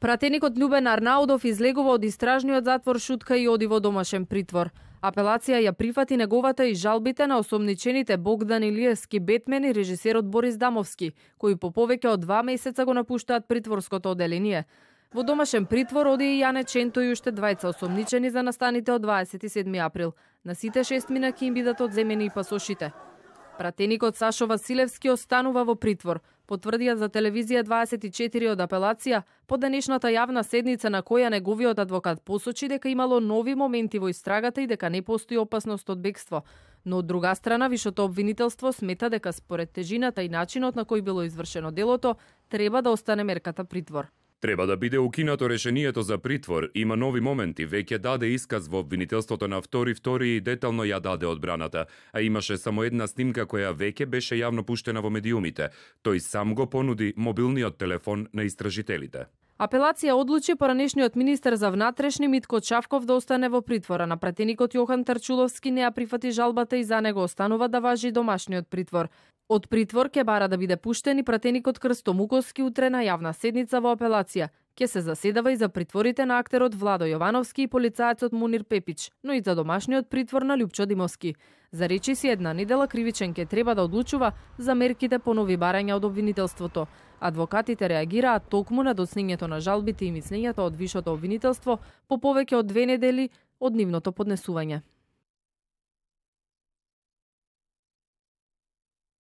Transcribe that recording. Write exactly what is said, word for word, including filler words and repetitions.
Пратеникот Љубен Арнаудов излегува од истражниот затвор Шутка и оди во домашен притвор. Апелација ја прифати неговата и жалбите на осомничените Богдан Илиевски Бетмен и режисерот Борис Дамовски, кои по повеќе од два месеца го напуштаат притворското оделение. Во домашен притвор оди и Јане Ченто и уште двајца осомничени за настаните од дваесет и седми април. На сите шест мина ќе им бидат одземени и пасошите. Пратеникот Сашо Василевски останува во притвор. Потврдија за телевизија дваесет и четири од апелација по денешната јавна седница на која неговиот адвокат посочи дека имало нови моменти во истрагата и дека не постои опасност од бегство. Но од друга страна, вишото обвинителство смета дека според тежината и начинот на кој било извршено делото, треба да остане мерката притвор. Треба да биде укинато решението за притвор. Има нови моменти. Веќе даде исказ во обвинителството на втори втори и детално ја даде одбраната. А имаше само една снимка која веќе беше јавно пуштена во медиумите. Тој сам го понуди мобилниот телефон на истражителите. Апелација одлучи поранешниот министер за внатрешни Митко Чавков да остане во притвора. На пратеникот Јохан Тарчуловски не ја прифати жалбата и за него останува да важи домашниот притвор. Од притвор ќе бара да биде пуштен и пратеникот Крсто Муковски утре на јавна седница во апелација. Ке се заседава и за притворите на актерот Владо Јовановски и полицаецот Мунир Пепич, но и за домашниот притвор на Љупчо Димовски. За речи си една недела кривичен ке треба да одлучува за мерките по нови барања од обвинителството. Адвокатите реагираат токму на доцнењето на жалбите и мислењата од вишото обвинителство по повеќе од две недели од нивното поднесување.